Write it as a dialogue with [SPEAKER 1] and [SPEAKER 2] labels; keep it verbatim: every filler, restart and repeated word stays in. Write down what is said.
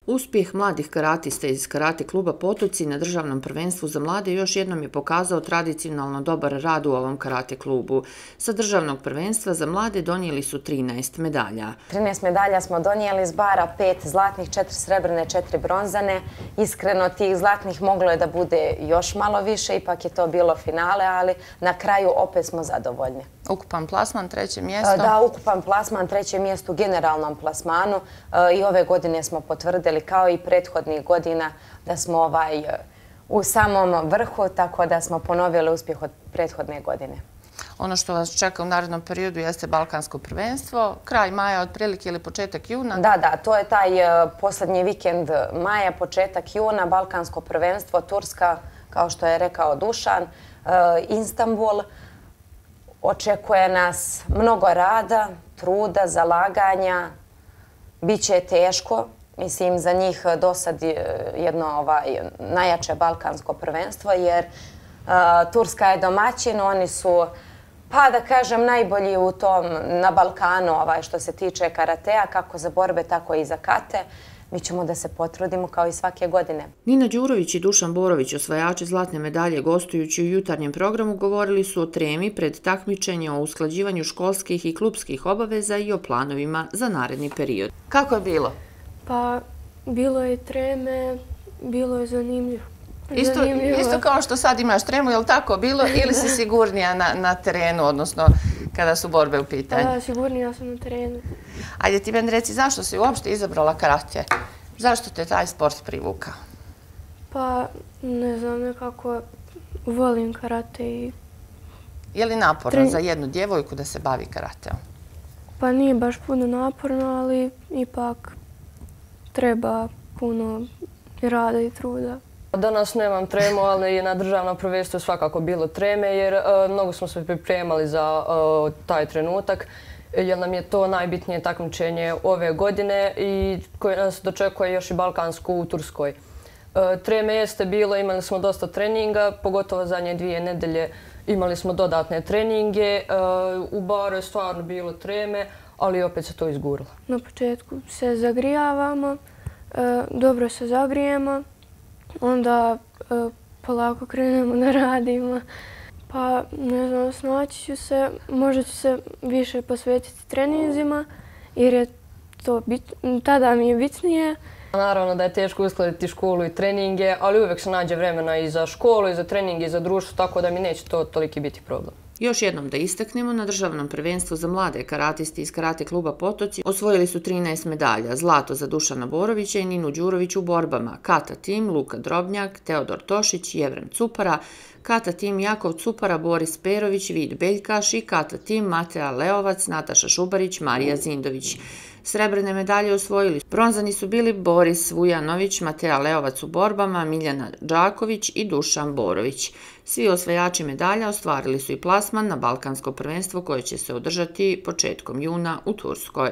[SPEAKER 1] Uspjeh mladih karatista iz karate kluba Potoci na državnom prvenstvu za mlade još jednom je pokazao tradicionalno dobar rad u ovom karate klubu. Sa državnog prvenstva za mlade donijeli su trinaest medalja.
[SPEAKER 2] trinaest medalja smo donijeli iz bara, pet zlatnih, četiri srebrne, četiri bronzane. Iskreno, tih zlatnih moglo je da bude još malo više, ipak je to bilo finale, ali na kraju opet smo zadovoljni.
[SPEAKER 3] Ukupan plasman, treće mjesto?
[SPEAKER 2] Da, ukupan plasman, treće mjesto u generalnom plasmanu i ove godine smo potvrdili kao i prethodnih godina da smo ovaj u samom vrhu, tako da smo ponovili uspjeh od prethodne godine.
[SPEAKER 3] Ono što vas čeka u narednom periodu jeste Balkansko prvenstvo, kraj maja otprilike ili početak juna?
[SPEAKER 2] Da, da, to je taj posljednji vikend maja, početak juna, Balkansko prvenstvo, Turska, kao što je rekao Dušan, Istanbul. Očekuje nas mnogo rada, truda, zalaganja, bit će teško. Mislim, za njih do sad jedno ovaj, najjače balkansko prvenstvo, jer uh, Turska je domaćin, oni su, pa da kažem, najbolji u tom na Balkanu ovaj, što se tiče karatea, kako za borbe, tako i za kate. Mi ćemo da se potrudimo kao i svake godine.
[SPEAKER 1] Nina Đurović i Dušan Borović, osvajači zlatne medalje gostujući u jutarnjem programu, govorili su o tremi pred takmičenje, o usklađivanju školskih i klubskih obaveza i o planovima za naredni period.
[SPEAKER 3] Kako je bilo?
[SPEAKER 4] Pa, bilo je treme, bilo je zanimljivo.
[SPEAKER 3] Isto, isto kao što sad imaš tremu, je li tako bilo ili si sigurnija na, na terenu, odnosno kada su borbe u pitanju?
[SPEAKER 4] Da, sigurnija sam na terenu.
[SPEAKER 3] Ajde ti meni reci, zašto si uopšte izabrala karate? Zašto te taj sport privukao?
[SPEAKER 4] Pa, ne znam, nekako volim karate i...
[SPEAKER 3] Je li naporno Tren... za jednu djevojku da se bavi karateom?
[SPEAKER 4] Pa nije baš puno naporno, ali ipak treba puno rada i truda.
[SPEAKER 5] Danas nemam tremu, ali na državnom prvenstvu je svakako bilo treme, jer uh, mnogo smo se pripremali za uh, taj trenutak, jer nam je to najbitnije takmičenje ove godine i koje nas dočekuje još i Balkansku u Turskoj. Uh, treme jeste bilo, imali smo dosta treninga, pogotovo zadnje dvije nedelje imali smo dodatne treninge. Uh, u baru je stvarno bilo treme, ali opet se to izgurilo.
[SPEAKER 4] Na početku se zagrijavamo, uh, dobro se zagrijemo. Onda uh, polako krenemo da radimo. Pa, ne znam, snaći ću se, možda ću se više posvetiti treninzima, jer je to bit, tada mi je bitnije.
[SPEAKER 5] Naravno da je teško uskladiti školu i treninge, ali uvijek se nađe vremena i za školu, i za treninge, i za društvo, tako da mi neće to toliki biti problem.
[SPEAKER 1] Još jednom da istaknemo, na državnom prvenstvu za mlade karatisti iz karate kluba Potoci osvojili su trinaest medalja, zlato za Dušana Borovića i Ninu Đurović u borbama, kata tim Luka Drobnjak, Teodor Tošić, Jevren Cupara, kata tim Jakov Cupara, Boris Perović, Vid Beljkaš i kata tim Matea Leovac, Nataša Šubarić, Marija Zindović. Srebrne medalje osvojili. Bronzani su bili Boris Vujanović, Matea Leovac u borbama, Miljana Đaković i Dušan Borović. Svi osvajači medalja ostvarili su i plasman na Balkansko prvenstvo koje će se održati početkom juna u Turskoj.